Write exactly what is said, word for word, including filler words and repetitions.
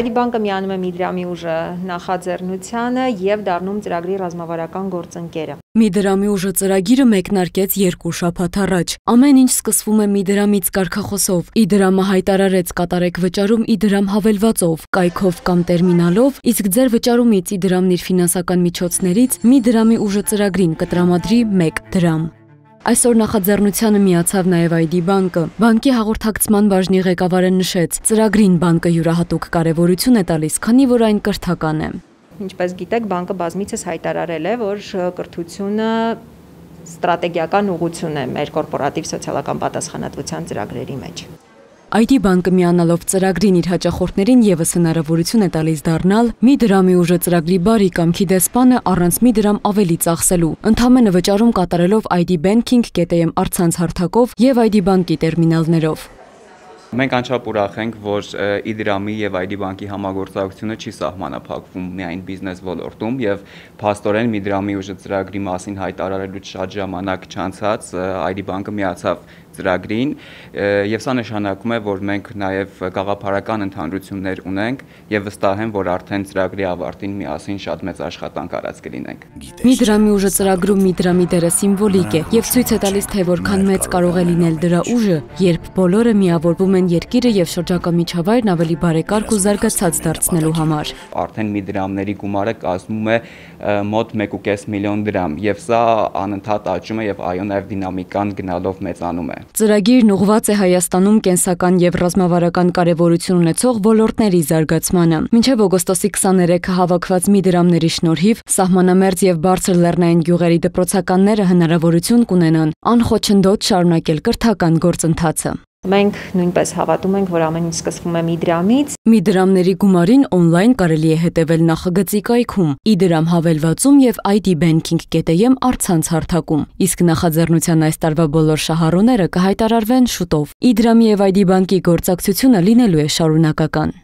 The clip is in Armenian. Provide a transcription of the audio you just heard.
այ դի բանկը միանում է մի դրամի ուժը նախաձեռնությանը եւ դառնում ծրագրի ռազմավարական գործընկերը։ Մի դրամի ուժը ծրագիրը մեկնարկեց երկու շաբաթ առաջ։ Ամեն ինչ սկսվում է մի դրամից կարգախոսով։ Իդրամը հայտարարեց կատարեք վճարում Իդրամ հավելվածով, կայքով կամ տերմինալով, իսկ ձեր վճարումից Իդրամն իր ֆինանսական միջոցներից մի դրամի ուժը ծրագրին կտրամադրի մեկ դրամ։ Այսօր նախաձեռնությանը միացավ նաև այ դի բանկը։ Բանկի հաղորդակցման բաժնի ղեկավարը նշեց, ծրագրին բանկը յուրահատուկ կարևորություն է տալիս, քանի որ այն կրթական է։ Ինչպես գիտեք, բանկը բազմիցս հայտարարել է, որ կրթությունը ստրատեգիական ուղղություն է մեր կորպորատիվ սոցիալական պատասխանատվության ծրագրերի մեջ։ այ դի բանկը միանալով ծրագրին իր հաճախորդներին ևս հնարավորություն է տալիս դառնալ մի դրամի ուժը ծրագրի բարի կամքի դեսպանը առանց մի դրամ ավելի ծախսելու, ընդամենը վճարում կատարելով այ դի Banking կետ էմ առցանց հարթակով եւ այ դի բանկի տերմինալներով։ Մենք անչափ ուրախ ենք, որ Իդրամի եւ այ դի բանկի համագործակցությունը չի սահմանափակվում միայն բիզնես ոլորտում եւ փաստորեն մի դրամի ուժը ծրագրի մասին հայտարարելուց շատ ժամանակ չանցած այ դի բանկը միացավ ծրագրին եւ սա նշանակում է, որ մենք նաեւ գաղափարական ընդհանրություններ ունենք եւ վստահ եմ, որ արդեն ծրագրի ավարտին միասին շատ մեծ աշխատանք արած կլինենք։ Մի դրամի ուժը ծրագրում մի դրամի դերը սիմվոլիկ է եւ ցույց է տալիս, թե որքան մեծ կարող է լինել դրա ուժը, երբ բոլորը միավորվում են երկիրը եւ շրջակա միջավայրն ավելի բարեկարգ ու զարգացած դարձնելու համար։ Արդեն մի դրամների գումարը կազմում է մոտ մեկ ու կես միլիոն դրամ եւ սա անընդհատ աճում է եւ այո նաեւ դինամիկան գնալով մեծանում է։ Ծրագիրն ուղղված է Հայաստանում կենսական եւ ռազմավարական կարեւորություն ունեցող ոլորտների զարգացմանը։ Մինչեւ օգոստոսի քսաներեքը հավաքված մի դրամների շնորհիվ սահմանամերձ եւ բարձր լեռնային գյուղերի դպրոցականները հնարավորություն կունենան անխոչնդոտ շարունակել կրթական գործընթացը։ Մենք նույնպես հավատում ենք, որ ամեն ինչ սկսվում է մի դրամից։ Մի դրամների գումարին օնլայն կարելի է հետևել նախագծի կայքում, Իդրամ հավելվածում եւ այ դի Banking կետ էմ առցանց հարթակում։ Իսկ նախաձեռնության այս տարվա բոլոր շահառուները կհայտարարվեն շուտով։ Իդրամի եւ այ դի բանկի գործակցությունը լինելու է շարունակական։